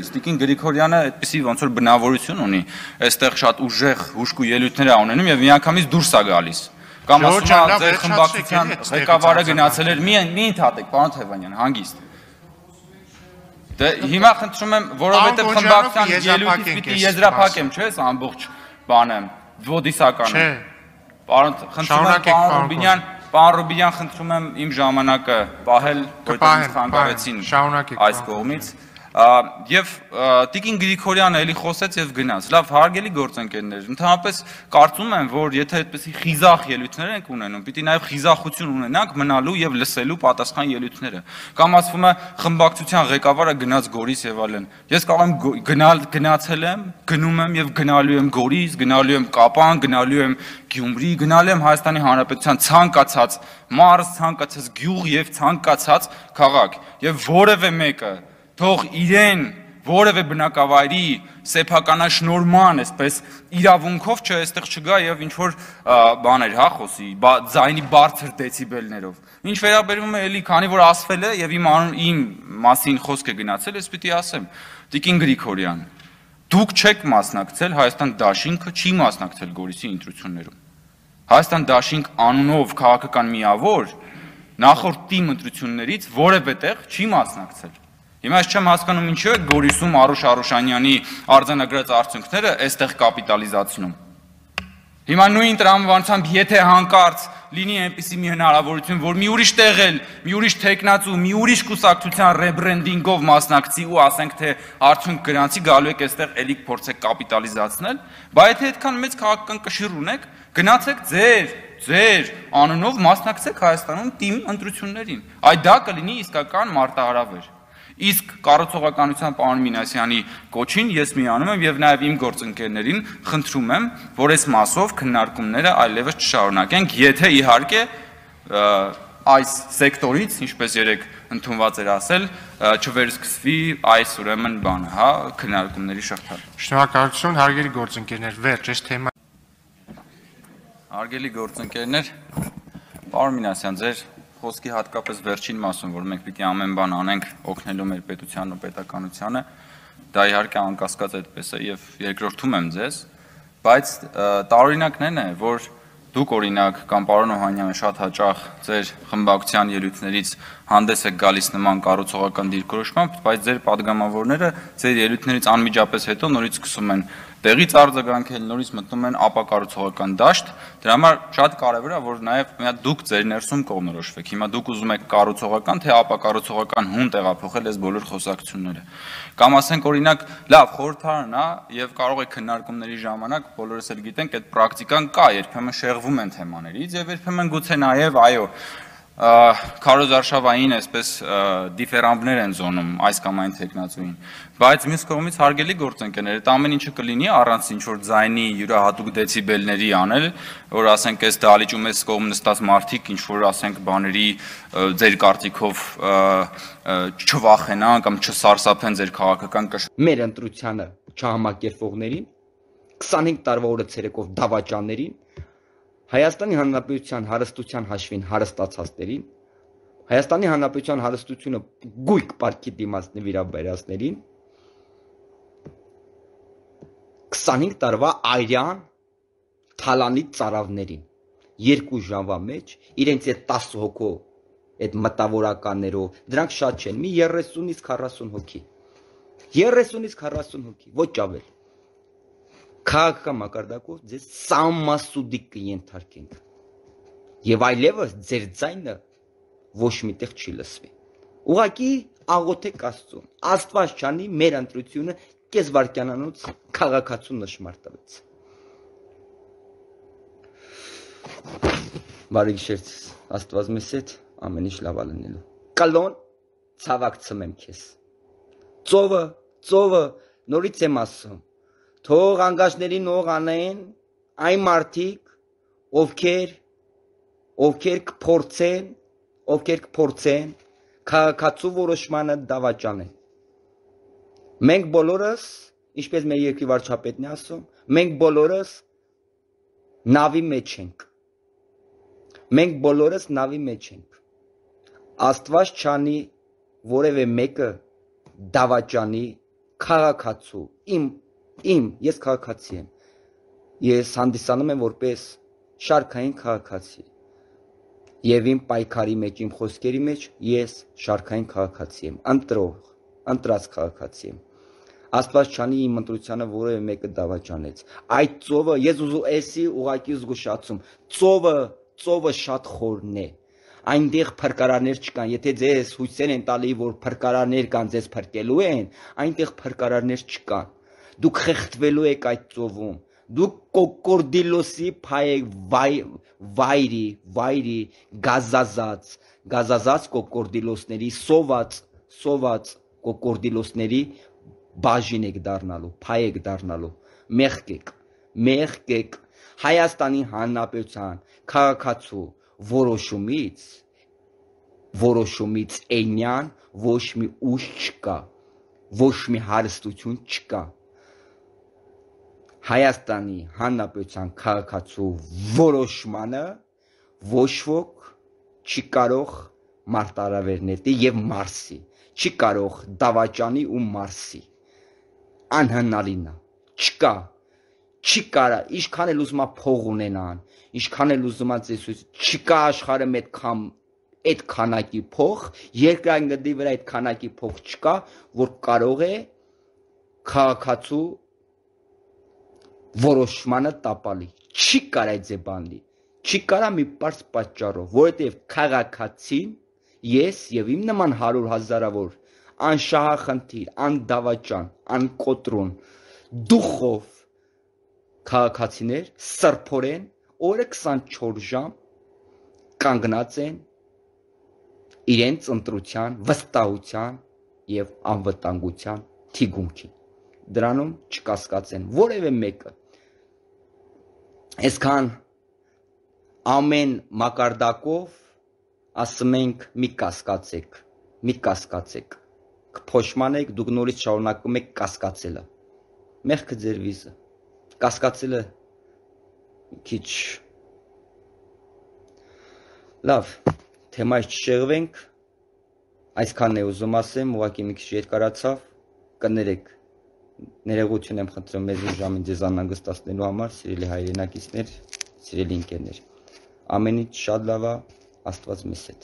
ելույթ։ Տիկին Գրիգորյանը այդպիսի ոնց որ բնավորություն ունի, այստեղ շատ ուժեղ հուշկու ելույթներ է ունենում եւ միանգամից դուրս է գալիս։ Կամ ասում է ձեր խմբակցության ղեկավարը գնացել էր, մի ընդհատեք, պարոն Թևանյան, հանգիստ։ Դե հիմա խնդրում եմ, որովհետեւ խմբակցության ելույթից պիտի եզրափակեմ, չէ՞, այս ամբողջ բանը, ոդիսականը։ Պարոն, խնդրում եմ, պարոն Ռուբինյան, խնդրում եմ իմ ժամանակը պահել, որտեղ խանգարեցին այս կողմից։ Եվ Տիկին Գրիգորյանը էլի խոսեց եւ գնաց։ Լավ, հարգելի գործընկերներ, ընդհանրապես կարծում եմ, որ եթե այդպեսի խիզախ ելույթներ ենք ունենում, պիտի նաեւ խիզախություն ունենանք մնալու եւ լսելու պատասխան ելույթները։ Կամ ասվում է խմբակցության ղեկավարը գնաց Գորիս եւ այլն։ Ես կարող եմ գնացել եմ, գնում եմ եւ գնալու եմ Գորիս, գնալու եմ Կապան, գնալու եմ Գյումրի, գնալու եմ Հայաստանի Հանրապետության ցանկացած մարզ, ցանկացած գյուղ եւ ցանկացած քաղաք։ Եվ որևէ մեկը թող իրեն որևէ բնակավայրի սեփականաշնորհման, այսպես իրավունքով չէ, այստեղ չգա եւ ինչ որ բաներ, հա, խոսի, ձայնի բարձր դեցիբելներով։ Ինչ վերաբերում է էլի, քանի որ ասվել է եւ իմ մասին խոսք է գնացել, ես պիտի ասեմ, Տիկին Գրիգորյան, դուք չեք մասնակցել Հայաստան դաշինքը չի մասնակցել Գորիսի ընտրություններում։ Հայաստան դաշինք անունով քաղաքական միավոր նախորդ թիմ ընտրություններից որևէ տեղ չի մասնակցել։ Հիմա ես չեմ հասկանում ինչու է Գորիսում Արուշ Արուշանյանի արձանագրած արդյունքները այստեղ կապիտալիզացնում։ Հիմա նույն տրամաբանությամբ եթե հանկարծ լինի այնպիսի մի հնարավորություն, որ մի ուրիշ տեղ, մի ուրիշ տեխնացու, մի ուրիշ կուսակցության ռեբրենդինգով մասնակցի ու ասենք թե արդյունք գրանցի գալու եք այստեղ էլի փորձեք կապիտալիզացնել, բայց եթե այդքան մեծ քաղաքական կշիռ ունեք, գնացեք ձեր անունով մասնակցեք Հայաստանում թիմ ընտրություններին։ Այդ դա կլինի իսկական մարտահրավեր։ Իսկ կառուցողականության պարոն Մինասյանի կոչին ես միանում եմ եւ նաեւ իմ գործընկերներին խնդրում եմ, որ այս մասով քննարկումները այլևս չշարունակենք, եթե իհարկե այս սեկտորից, ինչպես երեք ընդունված էր ասել, չվերսկսվի այս ուրեմն բանը, հա, քննարկումների շղթան։ Շնորհակալություն, հարգելի գործընկերներ, վերջ այս թեման։ Հարգելի գործընկերներ, պարոն Մինասյան, ձեր խոսքի հատկապես վերջին մասում, որ մենք պիտի ամեն բան անենք օգնելու մեր պետությանն ու պետականությանը, դա իհարկե անկասկած այդպես է եւ երկրորդում եմ ձեզ, բայց տարօրինակն է, որ դուք օրինակ կամ պարոն Օհանյանը շատ հաճախ ձեր խմբակցության ելույթներից հանդես եք գալիս նման կառուցողական դիրքորոշմամբ, բայց ձեր падգամավորները ձեր ելույթներից անմիջապես հետո նորից սկսում են տեղից արձագանքել, նորից մտնում են ապակառուցողական դաշտ, դրա համար շատ կարևոր է, որ նաև դուք ձեր ներսում կողմնորոշվեք։ Հիմա դուք ուզում եք կառուցողական թե ապակառուցողական հուն տեղափոխել այս բոլոր խոսակցությունները։ Կամ ասենք օրինակ, լավ, խորհրդարանն է եւ կարող է քննարկումների ժամանակ բոլորս էլ գիտենք, այդ պրակտիկան կա, երբեմն շեղվում են թեմաներից եւ երբեմն գուցե նաեւ այո քարոզարշավային այսպես դիֆերանբներ են զոնում այս կամ այն տեխնացուին, բայց մյուս կողմից հարգելի գործընկերներ, այդ ամեն ինչը կլինի առանց ինչ որ ձայնի յուրահատուկ դեցիբելների անել, որ ասենք այս դահլիճում այս կողմ նստած մարդիկ ինչ որ ասենք բաների ձեր կարծիքով չվախենան կամ չսարսափեն ձեր քաղաքական մեր ընտրությանը չհամակերպողներին 25 տարվա օրը ցերեկով դավաճաններին Հայաստանի Հանրապետության հարստության հաշվին հարստացածներին, Հայաստանի Հանրապետության հարստությունը գույք պարտքի դիմաց նվիրաբերածներին 25 տարվա այրյան թալանի ծարավներին 2 ժամվա մեջ իրենց այդ 10 հոգու այդ մտավորականներով դրանք շատ չեն, մի 30-ից 40 հոգի 30-ից 40 հոգի, ոչ ավել քաղաքական մակարդակով ձեզ սամասուդիկ կենթարկենք եւ այլևս ձեր ձայնը ոչ միտեղ չի լսվի ուղղակի աղոթեք Աստծուն Աստված չանի մեր ընտրությունը կես վայրկյանանոց քաղաքացու նշմար տվեց բարի գիշեր Աստված մեզ հետ ամեն ինչ լավ լինելու կլոն ցավակ ցմեմ քեզ ծովը նորից եմ ասում Թող անգաշներին ող անեն այն մարդիկ, ովքեր կփորձեն քաղաքացու որոշմանը դավաճանեն։ Մենք բոլորս, ինչպես մեր երկրի վարչապետն է ասում, մենք բոլորս նավի մեջ ենք։ Աստված չանի որևէ մեկը դավաճանի քաղաքացու, ես քաղաքացի եմ, ես հանդիսանում եմ որպես շարքային քաղաքացի եւ իմ պայքարի մեջ, իմ խոսքերի մեջ ես շարքային քաղաքացի եմ, ընտրած քաղաքացի եմ։ Աստված չանի իմ ընտրությանը որևէ մեկը դավաճանեց։ Այդ ծովը, ես էսի ուղակի զգուշացում, ծովը շատ խորն է։ Այնտեղ փրկարարներ չկան, եթե ձեզ հույսեր են տալի, որ փրկարարներ կան, ձեզ փրկելու են, այնտեղ փրկարարներ չկան։ Դուք խեղդվելու եք այդ ծովում։ Դուք կոկորդիլոսի վայրի գազազած կոկորդիլոսների սոված կոկորդիլոսների բաժին եք դառնալու, փայ եք դառնալու, մեղք եք Հայաստանի Հանրապետության քաղաքացու որոշումից այնյան ոչ մի ուժ չկա, ոչ մի հարստություն չկա։ Հայաստանի Հանրապետության քաղաքացու որոշմանը ոչ ոք չի կարող մարտահրավեր նետի եւ մարսի, չի կարող դավաճանի ու մարսի։ Անհնարին է, չկա, չի կարա, ինչքան էլ ուզում է փող ունենան, ինչքան էլ ուզում է ծեսույց, չկա աշխարհում այդ քանակի փող, երկրագնդի վրա այդ քանակի փող չկա, որ կարող է քաղաքացու որոշմանը տապալի, չի կարա այդ բանի, չի կարա մի պարզ պատճառով, որովհետև քաղաքացին ես եւ իմ նման 100,000-ավոր անշահախնդիր, անդավաճան, անկոտրոն, դուխով քաղաքացիներ սրբորեն օրը 24 ժամ կանգնած են իրենց ընտրության, վստահության եւ անվտանգության թիկունքին։ Դրանում չկասկածեն որևէ մեկը։ Այսքան ամեն մակարդակով ասում ենք մի կասկածեք, կփոշմանեք, դուք նորից շարունակում եք կասկածելը։ Մեղքը ձեր վիզը, կասկածելը քիչ։ Լավ, թեմայից չշեղվենք, այսքանն է ուզում ասեմ, ուղղակի մի քիչ երկարացավ, կներեք, ներողություն եմ խնդրում մեզ ժամին ձեզ անհանգստացնելու համար, սիրելի հայրենակիցներ, սիրելի ընկերներ, ամեն ինչ շատ լավ է, Աստված մեզ հետ։